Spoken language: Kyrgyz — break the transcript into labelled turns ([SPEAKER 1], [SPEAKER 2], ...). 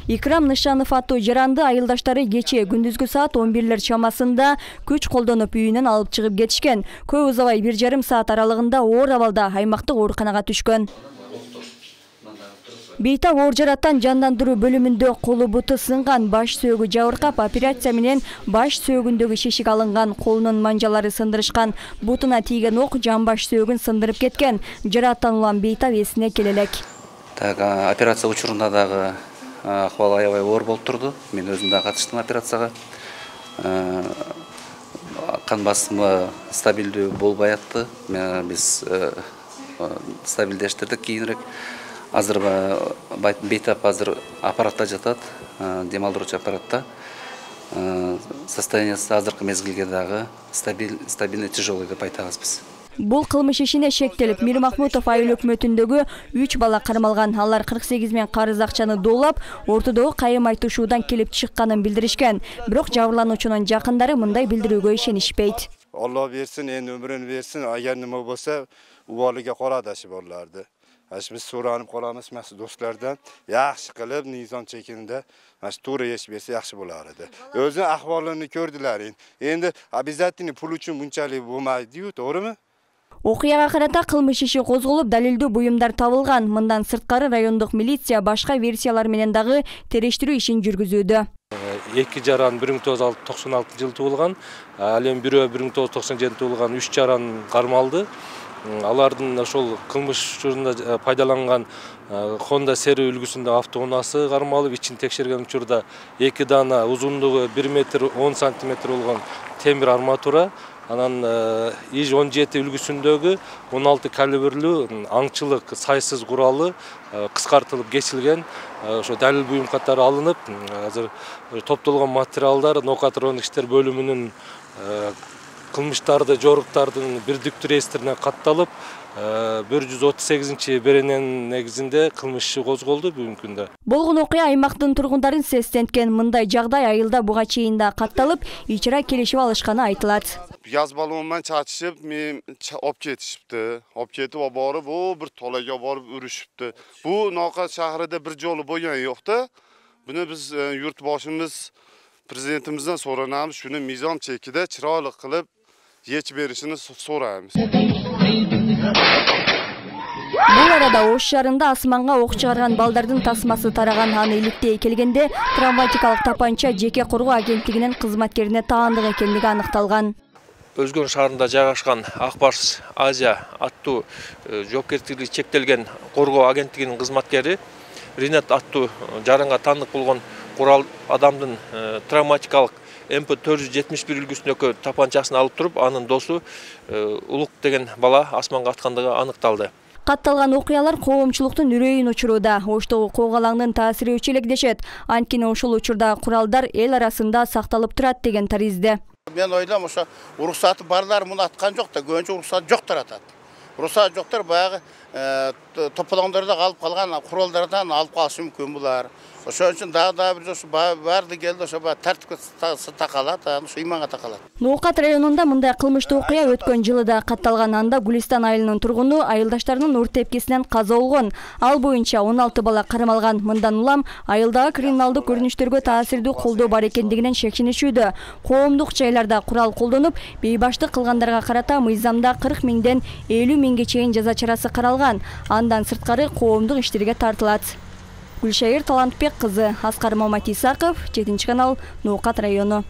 [SPEAKER 1] Икрам Нышанов аттуу жаранды айылдаштары кечээ күндүзгү саат 11 чамасында күч колдонуп үйүнөн алып чыгып кетишкен. Көп узабай 1,5 саат аралыгында оор абалда аймактык ооруканага түшкөн. Бейтап оор жараттан жандандыруу бөлүмүндө колу буту сынган, баш сөөгү жабыркап, операция менен баш сөөгүндөгү шешик алынган, колунун манжалары сындырышкан, бутуна тийген ок жан баш сөөгүн сындырып кеткен. Жараттануулан Бейтап эсине келе элек.
[SPEAKER 2] Операция учурунда дагы акыбал аябай оор болуп турду. Мен өзүм да катыштым операцияга. Кан басымы стабилдүү болбой атты. Биз стабилдештирдик кийинирээк. Азыр Бейтап азыр аппаратта жатат, демалдыруучу аппаратта. Состояниясы азыркы мезгилге дагы стабильный тяжелый деп айтабыз биз.
[SPEAKER 1] Бул кылмыш ишине шектелип, Мир Махмутов айыл өкмөтүндөгү 3 бала кармалган. Алар 48 миң карыз акчаны доолап, ортодогу кайым айтышуудан келип чыкканын билдиришкен. Бирок жабырлануучунун жакындары мындай билдирүүгө ишенишпейт.
[SPEAKER 3] Алла берсин, өмүрүн берсин, агер неме болсо, убалыга карадашы болларды. Biz so'ranib qolamiz mana do'stlardan, yaxshi qilib nizom chekindi, mana to'g'ri yesh bersa yaxshi bo'lar edi. O'zi ahvolini ko'rdilar. Endi обязательно pul uchun bunchalik bo'lmaydi-yu, to'g'rimi?
[SPEAKER 1] Окуяга карата кылмыш иши козголуп, далилдүү буюмдар табылган. Мындан сырткары райондук милиция башка версиялар менен дагы териштирүү ишин жүргүзүүдө.
[SPEAKER 4] Эки жаран 1996 жылы туулган, ал эми бирөө 1997 туулган 3 жаран кармалды. Алардын ошол кылмыш учурунда пайдаланган Honda Seri үлгүсүндө автоунаасы кармалып, ичин текшерген учурда 2 дана узундугу 1 метр 10 сантиметр болгон темир арматура, анан ИЖ-17 үлгүсүндөгү 16 калибрлүү аңчылык сайсыз куралы кыскартылып кесилген. Ошо далил буюм катары алынып, азыр топтолгон материалдар Нокатроник иштер бөлүмүнүн кылмыштарды жоруктардын бирдиктүү реестрине катталып, 138 берененин негизинде кылмыш иши козголду бүгүнкү күндө.
[SPEAKER 1] Болгон окуя аймактын тургундарын сестенткен. Мындай жагдай айылда буга чейин да катталып, ичра келишип алышканы айтылат.
[SPEAKER 3] Yazbalı ondan çatışıp, op ketişipti. Op ketip borib, bir tolaga borib urishibdi. Bu Nokat shahrida bir joli bo'lgan yo'q-da. Buni biz yurtboshimiz prezidentimizdan so'ranamiz, shuni mizon chekida chiroyli qilib yech berishini so'raymiz.
[SPEAKER 1] Бул арада Ош шаарында асманга ок чыгарган балдардын тасмасы тараган. Аны иликтей келгенде травматикалык тапанча жеке коргоо агенттигинин кызматкерине таандык экендиги аныкталган.
[SPEAKER 5] Өзгөн шаарында жайгашкан Акбарс Азия аттуу жоопкерчилиги чектелген коргоо агенттигинин кызматкери Ринат аттуу жаранга таандык болгон курал адамдын травматикалык MP471 үлгүсүндөгү тапанчасын алып туруп, анын досу Улук деген бала асманга аткандыгы аныкталды.
[SPEAKER 1] Катталган окуялар коомчулуктун үрөйүн учуруда. Оштогу коогалаңдын таасири өчө элек дешет. Анткени ошол учурда куралдар эл арасында сакталып турат деген таризде.
[SPEAKER 6] Мен ойлам, ошо уруксаты барлар муну аткан жок да, көбүнчө уруксат жоктор атат. Уруксат жоктор баягы тополоңдордо калып калган куралдардан алып калышы мүмкүн булар. Ошон үчүн дагы бир ошо барды келди, ошо тартипке такалат, ошо иманга такалат.
[SPEAKER 1] Нокат районунда мындай кылмыштуу окуя өткөн жылы да катталган. Анда Гулистан айылынын тургуну айылдаштарынын ур тепкисинен каза болгон. Ал боюнча 16 бала кармалган. Мындан улам айылдагы криминалдык көрүнүштөргө таасирдүү колдоо бар экендигинен шекченишүүдө. Коомдук жайларда курал колдонуп, бейбаштык кылгандарга карата мыйзамда 40 миңден 50 миңге чейин жаза чарасы каралган. Андан сырткары коомдук иштерге тартылат. Гүлшайыр Талантбек кызы, Аскар Маматисаков, 7 канал, Нокат району.